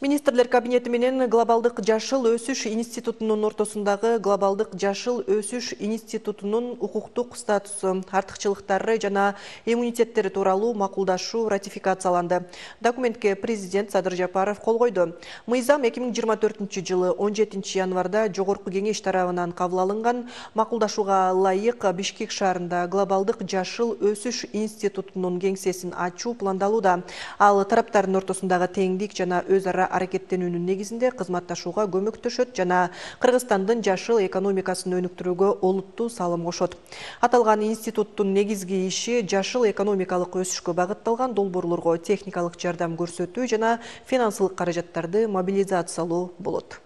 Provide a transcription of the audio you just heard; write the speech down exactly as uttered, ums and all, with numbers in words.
Министрлер кабинети менен Глобалдык жашыл өсүш институтунун ортосундагы Глобалдык жашыл өсүш институтунун укуктук статусу, артыкчылыктары жана иммунитеттери тууралуу макулдашуу ратификацияланды. Документке президент Садыр Жапаров кол койду. Мыйзам эки миң жыйырма төртүнчү жылы он жетинчи январда Жогорку кеңеш тарабынан кабыл алынган. Макулдашууга ылайык Бишкек шаарында Глобалдык жашыл өсүш институтунун кеңсесин ачуу пландалууда. Ал тараптардын ортосундагы теңдик жана өз ара аракеттенүүнүн негизинде кызматташууга көмөктөшөт жана Кыргызстандын жашыл экономикасын өнүктүрүүгө олуттуу салым кошот. Аталган институттун негизги иши жашыл экономикалык өсүшкө багытталган долбоорлорго техникалык жардам көрсөтүү жана финансылык каражаттарды мобилизациялоо болот.